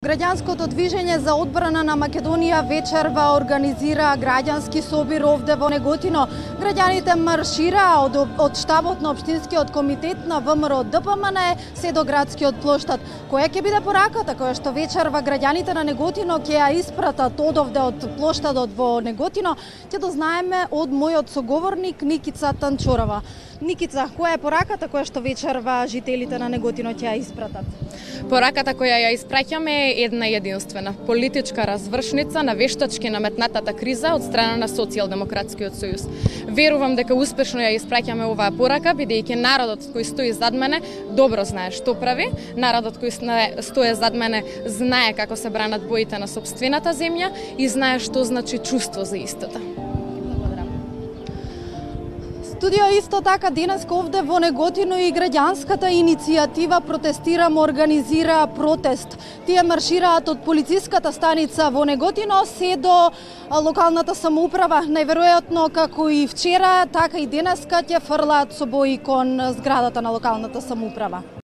Граѓанското движење за одбрана на Македонија вечерва организира граѓански собир овде во Неготино. Граѓаните маршираа од штабот на Општинскиот комитет на ВМРО ДПМН се до градскиот плоштад. Која ќе биде пораката која што вечерва граѓаните на Неготино ќе ја испратат одовде од плоштадот во Неготино, ќе дознаеме од мојот соговорник Никица Танчорова. Никица, која е пораката која што вечерва жителите на Неготино ќе ја испратат? Пораката која ја испраќаме е една единствена политичка развршница на вештачки наметнатата криза од страна на Социјалдемократскиот сојуз. Верувам дека успешно ја испраќаме оваа порака, бидејќи народот кој стои зад мене добро знае што прави, народот кој стои зад мене знае како се бранат боите на сопствената земја и знае што значи чувство за истата. Студио исто така денеска овде во Неготино и граѓанската иницијатива Протестирам организира протест. Тие маршираат од полициската станица во Неготино се до локалната самоуправа. Најверојатно како и вчера, така и денеска ќе фрлаат со бои кон зградата на локалната самоуправа.